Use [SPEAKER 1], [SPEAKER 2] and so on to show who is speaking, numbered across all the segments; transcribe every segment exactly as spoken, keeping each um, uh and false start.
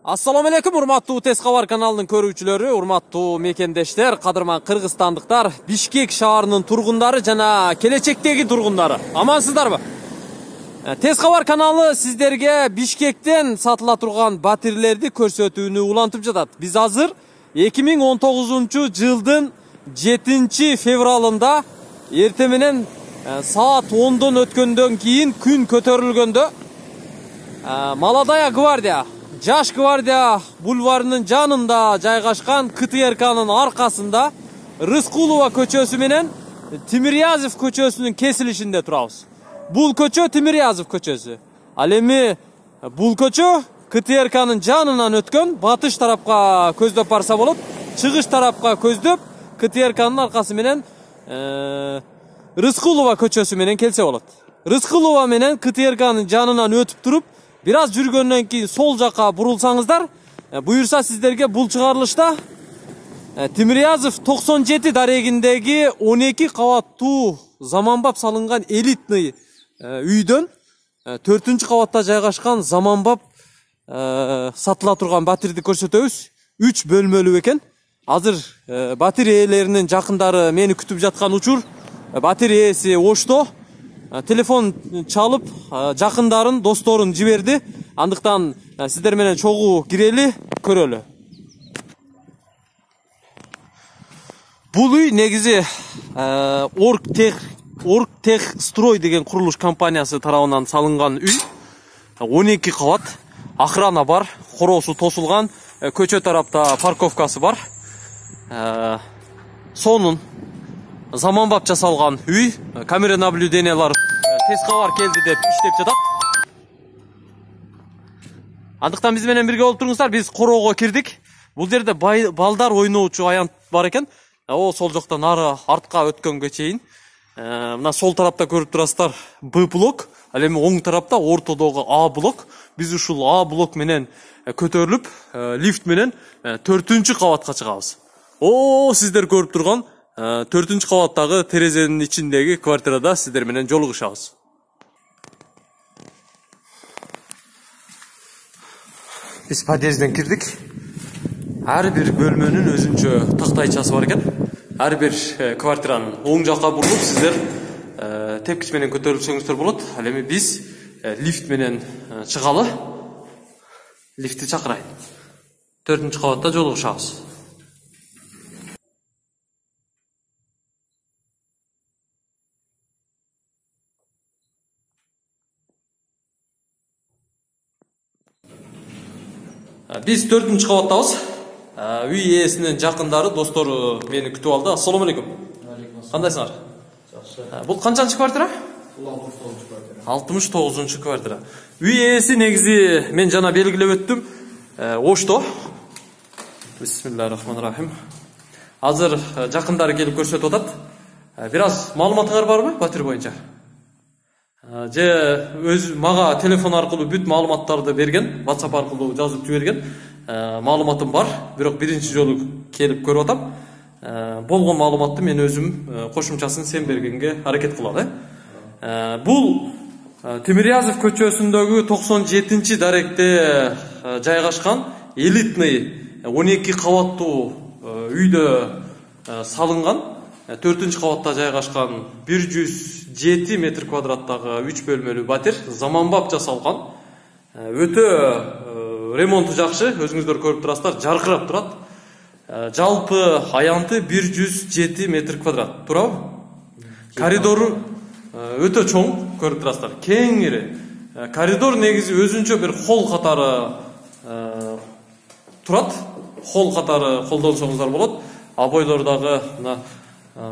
[SPEAKER 1] Assalamu alaikum, урматтуу Тез кабар каналынын көрүүчүлөрү, урматтуу мекендештер, кадырман кыргызстандыктар, Бишкек шаарынын тургундары жана келечектеги тургундары. Амансыздарбы? Тез кабар каналы сиздерге Бишкектен сатыла турган батирлерди көрсөтүүнү улантып жатат. Биз азыр эки миң он тогузунчу жылдын жетинчи февралында эртең менен саат ондон өткөндөн кийин күн көтөрүлгөндө Молодая гвардия Жаш гвардия бульварынын жанында жайгашкан КТРКнын аркасында Рыскулова көчөсү менен Тимирязев көчөсүнүн кесилишинде турабыз. Бул көчө Тимирязев көчөсү. Ал эми бул көчө КТРКнын жанынан өткөн, батыш тарапка көздөп барса болот, чыгыш тарапка көздөп КТРКнын аркасы менен Рыскулова көчөсү менен келсе болот. Рыскулова менен КТРКнын жанынан өтүп туруп, бир аз жүргөндөн кийин сол жака бурулсаңыздар, буюрса сиздерге бул чыгарылышта Тимирязев токсон жети дарегиндеги он эки кабаттуу заманбап салынган элитный үйдөн төртүнчү кабатта жайгашкан заманбап сатыла турган батирди көрсөтөбүз. үч бөлмөлүү экен. Азыр батир ээлеринин жакындары мени күтүп жаткан учур. Батир ээси ошто. Телефон чалып, жакындарын, досторун жиберди. Андыктан сиздер менен чогуу кирели, көрөлү. Бул үй негизи Оргтех Оргтехстрой деген курулуш компаниясы тарабынан салынган үй. он эки кабат, охрана бар, короосу тосулган, көчө тарапта парковкасы бар. Сонун заманбап жасалган үй, камера наблюдениялар Тез кабар келди деп иштеп жатат. Андыктан биз менен бирге болуп туруңуздар, биз короого кирдик. Бул жерде балдар ойноочу аянт бар экен. О, сол жактан ары артка өткөнгө чейин. Мына сол тарапта көрүп турасыздар Б блок, ал эми оң тарапта ортодогу А блок. Биз ушул А блок менен көтөрүлүп, лифт менен төртүнчү кабатка чыгабыз. О, сиздер көрүп турган төртүнчү кабаттагы терезенин ичиндеги квартирада сиздер менен жолугушабыз. Биз подъезден кирдик. Ар бир бөлмөнүн өзүнчө тактайчасы бар экен. Ар бир квартиранын оң жакка бурулуп сиздер тепкич менен көтөрүлсөңүздөр болот. Ал эми биз лифт менен чыгалы. Лифтти чакырайын. төртүнчү кабатта жолугушабыз. Биз төртүнчү кабаттабыз. Үй ээсинин жакындары, достору мени күтүп алды. Ассаламу алейкум. Кандайсыңар? Жакшы. Бул канчанчы квартира? Бул алтымыш тогузунчу квартира. алтымыш тогузунчу квартира. Үй ээси негизи мен жана белгилеп өттүм. Ошто. Бисмиллахир-рахманир-рахим. Азыр жакындары келип көрсөтүп атат. Бир аз маалыматыңар барбы батир боюнча? Же өз мага телефон аркылуу бүт маалыматтарды берген, WhatsApp аркылуу жазып жиберген. Маалыматым бар, бирок биринчи жолу келип көрүп атам. Болгон маалыматты мен өзүм кошумчасын сен бергенге аракет кылам, э. Бул Тимирязев көчөсүндөгү токсон жетинчи даректе жайгашкан элитный он эки кабаттуу үйдө салынган, төртүнчү кабатта жайгашкан бир жүз жети метр квадраттагы үч бөлмөлүү батир, заманбап жасалган. Өтө ремонту жакшы, өзүңүздөр көрүп турасыздар, жаркырап турат. Жалпы аянты бир жүз жети метр квадрат, туурабы? Коридору өтө чоң, көрүп турасыздар, кеңири. Коридор негизи өзүнчө бир холл катары турат. Холл катары колдонсоңуздар болот. Абойлордагы мына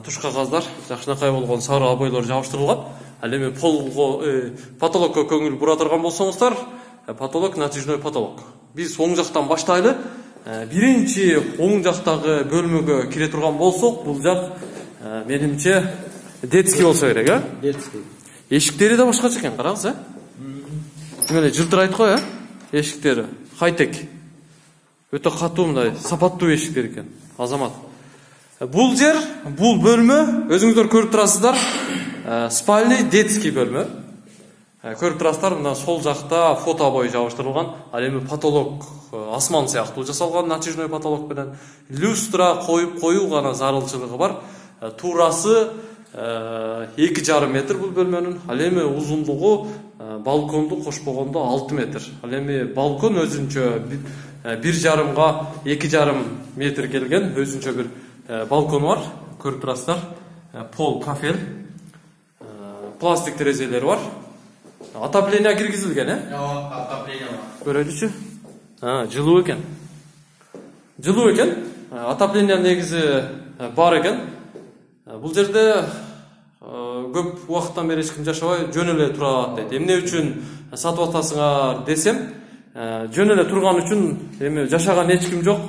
[SPEAKER 1] туш кагаздар жакшынакай болгон сары абойлор жабыштырылган. Ал эми полго, потолокко көңүл бура турган болсоңуздар, потолок натяжной потолок. Биз оң жактан баштайлы. Биринчи оң жактагы бөлмөгө кире турган болсок, бул жак менимче детский болсо керек, э? Детский. Эшиктери да башкача экен, караңыз, э? Тим эле жылтырайт го, э? Эшиктери хай-тек. Өтө катуу мындай сапаттуу эшиктер экен. Азамат. Бул жер, бул бөлмө, өзүңүздөр көрүп турасыздар, спальный детский бөлмө. Көрүп турасыздар, мына сол жакта фото обои жабыштырылган. Ал эми потолок асман сыяктуу жасалган, натяжной потолок менен люстра коюп коюу гана зарылчылыгы бар. Туурасы эки жарым метр бул бөлмөнүн. Ал эми узундугу балконду кошпогондо алты метр. Ал эми балкон өзүнчө бир жарымга эки жарым метр келген өзүнчө бир балкон бар. Көрүп турасыздар. Пол кафель. Пластик терезелери бар. Отопление киргизилген, э?
[SPEAKER 2] Жок, отопление бар.
[SPEAKER 1] Көрөлүчү? А, жылуу экен. Жылуу экен. Отопление негизи бар экен. Бул жерде көп убакыттан бери эч ким жашабай жөн эле турат дейт. Эмне үчүн сатып атасыңар десем, жөн эле турган үчүн эми жашаган эч ким жок.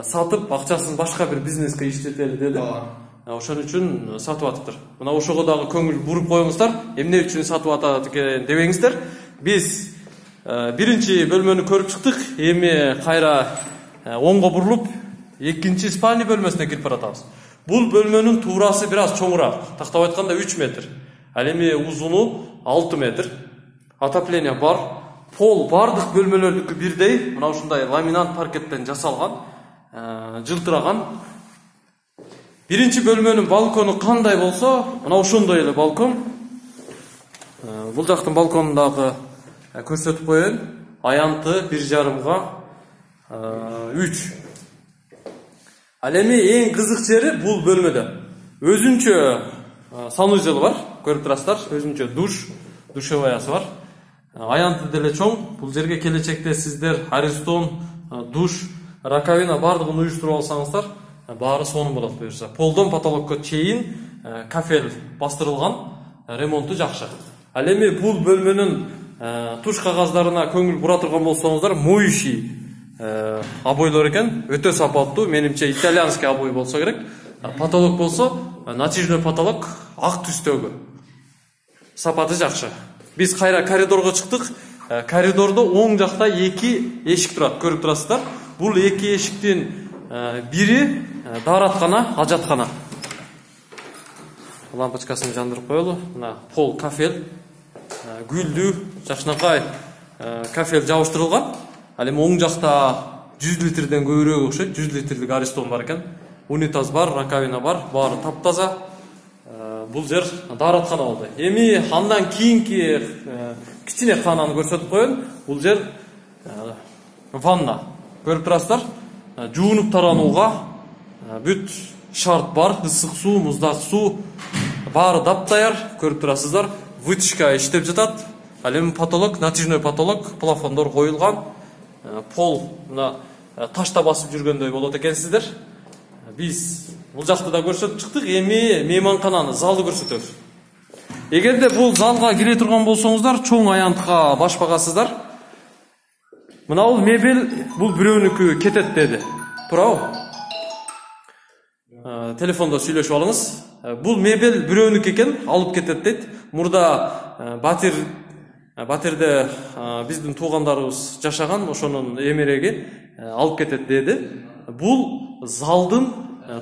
[SPEAKER 1] Сатып акчасын башка бир бизнеске иштетели деди. Ошон үчүн сатып атыптыр. Мына ошого дагы көңүл буруп коюңуздар. Эмне үчүн сатып атат экен дебеңиздер. Биз биринчи бөлмөнү көрүп чыктык. Эми кайра оңго бурулуп, экинчи спальня бөлмөсүнө кирип баратабыз. Бул бөлмөнүн туурасы бир аз чоңураак, тактап айтканда үч метр. Ал эми узуну алты метр. Отопление бар. Пол бардык бөлмөлөрдүкү бирдей. Мына ушундай ламинат паркеттен жасалган, жылтыраган. Биринчи бөлмөнүн балкону кандай болсо, мына ошондой эле балкон. Бул жактын балконун дагы көрсөтүп коеюн. Аянты бир жарымга үч. Ал эми эң кызык жери бул бөлмөдө өзүнчө санузел бар. Көрүп турасыздар, өзүнчө душ, душеваясы бар. Аянты деле чоң. Бул жерге келечекте сиздер аристон, душ, раковина бардыгын уюштуруп алсаңыздар, баары сонун болот буюрса. Полдон потолокко чейин кафель бастырылган, ремонту жакшы. Ал эми бул бөлмөнүн туш кагаздарына көңүл бура турган болсоңуздар, моющий обойлор экен, өтө сапаттуу, менимче итальянский обой болсо керек. Потолок болсо, натяжной потолок ак түстөгү. Сапаты жакшы. Биз кайра коридорго чыктык. Коридордо оң жакта эки эшик турат, көрүп турасыздар. Бул эки эшиктин бири даараткана, ажаткана. Лампочкасын жандырып коелу. Мына пол кафель, гүлдүү, жакшынакай кафель жабыштырылган. Ал эми оң жакта жүз литрден көбүрөөк окшойт, жүз литрдик аристон бар экен. Унитаз бар, раковина бар, баары таптаза. Бул жер даараткана болду. Эми андан кийинки кичине кананы көрсөтүп коеюн. Бул жер ванна. Көрүп турасыздар? Жуунуп таранууга бүт шарт бар, ысык суу, муздак суу баары таптаяр. Көрүп турасыздар? Вытяжка иштеп жатат. Ал эми потолок, натяжной потолок, плафондор коюлган. Пол мына ташта басып жүргөндөй болот экенсиздер. Биз бул жакты да көрсөтүп чыктык. Эми мейманкананы, залды көрсөтөбүз. Эгерде бул залга кире турган болсоңуздар, чоң аянтка баш багасыздар. Мына бул мебель, бул бирөөнүкү кетет деди. Туурабы? Телефондо сүйлөшүп алыңыз. Бул мебель бирөөнүкү экен, алып кетет дейт. Мурда батир батирде биздин туугандарыбыз жашаган, ошонун эмереги алып кетет деди. Бул залдын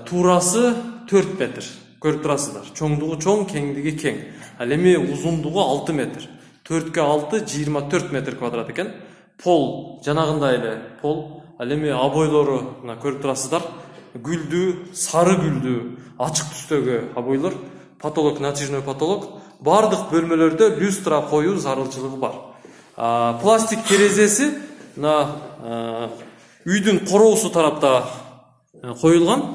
[SPEAKER 1] туурасы төрт метр. Көрүп турасыздар. Чоңдугу чоң, кеңдиги кең. Ал эми узундугу алты метр. төрткө алты жыйырма төрт метр квадрат экен. Пол жанагындай эле пол. Ал эми обойлору мына көрүп турасыздар. Гүлдүү, сары гүлдүү, ачык түстөгү обойлор. Потолок, натяжной потолок. Бардык бөлмөлөрдө люстра коюу зарылчылыгы бар. Пластик терезеси мына үйдүн короосу тарапта коюлган.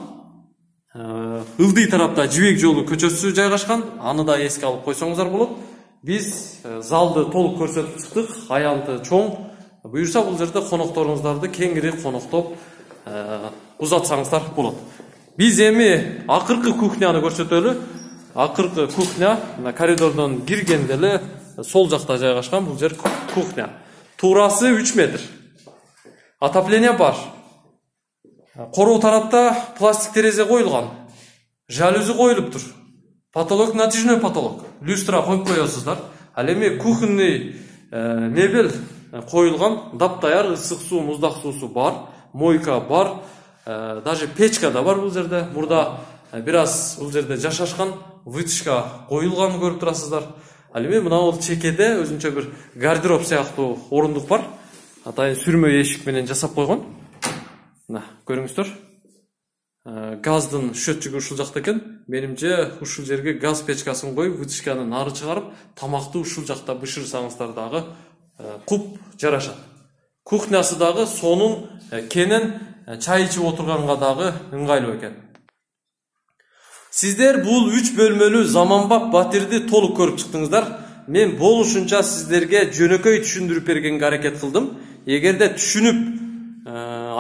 [SPEAKER 1] Ылдый тарапта Жибек жолу көчөсү жайгашкан. Аны да эске алып койсоңуздар болот. Биз залды толук көрсөтүп чыктык. Аянты чоң. Буюрса бул жерде конокторуңуздарды кеңири коноктоп узатсаңыздар болот. Биз эми акыркы кухняны көрсөтөлү. Акыркы кухня мына коридордон киргенде эле сол жакта жайгашкан. Бул жер кухня. Туурасы үч метр. Отопление бар. Короо тарапта пластик терезе коюлган. Жалюзи коюлуптур. Потолок натяжной потолок. Люстра коюп коесуздар. Ал эми кухонный мебель коюлган. Таптаяр, ысык суу, муздак суусу бар. Мойка бар. Даже печка да бар бул жерде. Мурда бир аз бул жерде жашашкан. Вытяжка коюлган көрүп турасыздар. Ал эми мына бул чекеде өзүнчө бир гардероб сыяктуу орундук бар. Атайын сүрмө эшик менен жасап койгон. Мына көрүңүздөр. Газдын счетчиги ушул жакта экен. Менимче ушул жерге газ печкасын коюп, вытяжканы нары чыгарып, тамакты ушул жакта бышырсаңыздар дагы куп жарашат. Кухнясы дагы сонун кенен чай ичип отурганга дагы ыңгайлуу экен. Сиздер бул үч бөлмөлүү заманбап батирди толук көрүп чыктыңыздар. Мен болушунча сиздерге жөнөкөй түшүндүрүп бергенге аракет кылдым. Эгерде түшүнүп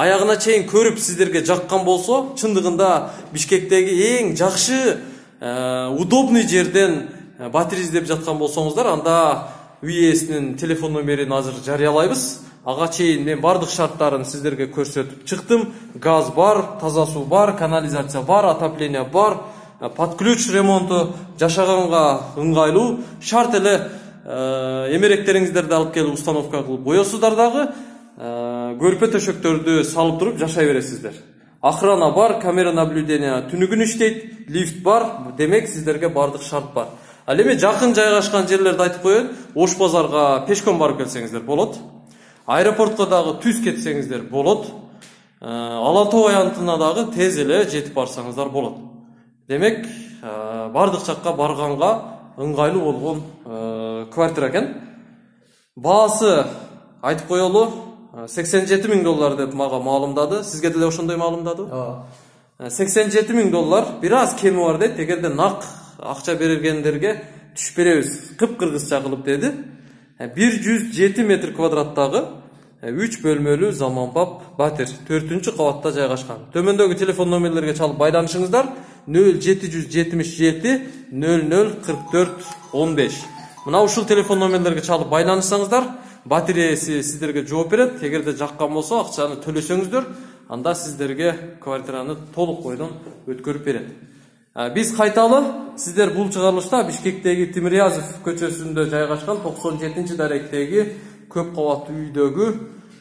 [SPEAKER 1] аягына чейин көрүп сиздерге жаккан болсо, чындыгында Бишкектеги эң жакшы, удобный жерден батир издеп жаткан болсоңуздар, анда үй ээсинин телефон номерин азыр жарыялайбыз. Ага чейин мен бардык шарттарын сиздерге көрсөтүп чыктым. Газ бар, таза суу бар, канализация бар, отопление бар, под ключ ремонту жашаганга ыңгайлуу. Шарт эле эмеректериңиздерди алып келип установка кылып коесуздар дагы, көрпө төшөктөрдү салып туруп жашай бересиздер. Охрана бар, камера наблюдения түнүгүн иштейт, лифт бар, демек сиздерге бардык шарт бар. Ал эми жакын жайгашкан жерлерди айтып коеюн. Ош базарга пешком барып келсеңиздер болот. Аэропортко дагы түз кетсеңиздер болот. Ала Тоо аянтына дагы тез эле жетип барсаңыздар болот. Демек, бардык жакка барганга ыңгайлуу болгон квартира экен. Баасы айтып коелу, сексен жети миң доллар деп мага маалымдады. Сизге деле ошондой маалымдады? Ооба. сексен жети миң доллар, бир аз кеми бар дейт. Эгерде нак акча бергендерге түшүп беребиз, кып-кыргызча кылып деди. бир жүз жети метр квадраттагы үч бөлмөлүү заманбап батир төртүнчү кабатта жайгашкан. Төмөндөгү телефон номерлерге чалып байланышыңыздар. нөл жети жүз жетимиш жети нөл нөл кырк төрт он беш. Мына ушул телефон номерлерге чалып байланышсаңыздар, батир ээси сиздерге жооп берет. Эгерде жаккан болсо, акчаны төлөсөңүздөр, анда сиздерге квартираны толук бойдон өткөрүп берет. Биз кайталы сиздер бул чыгарылышта Бишкектеги Тимирязев көчөсүндө жайгашкан токсон жетинчи даректеги көп кабаттуу үйдөгү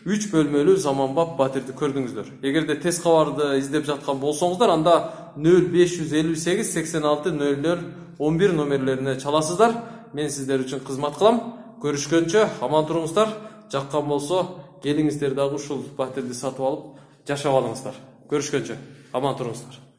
[SPEAKER 1] үч бөлмөлүү заманбап батирди көрдүңүздөр. Эгерде тез кабарды издеп жаткан болсоңуздар, анда нөл беш жүз элүү сегиз сексен алты нөл нөл он бир номерлерине чаласыздар. Мен сиздер үчүн кызмат кылам. Көрүшкөнчө аман туруңуздар. Жаккан болсо, келиңиздер дагы ушул батирди сатып алып жашап алыңыздар. Көрүшкөнчө аман туруңуздар.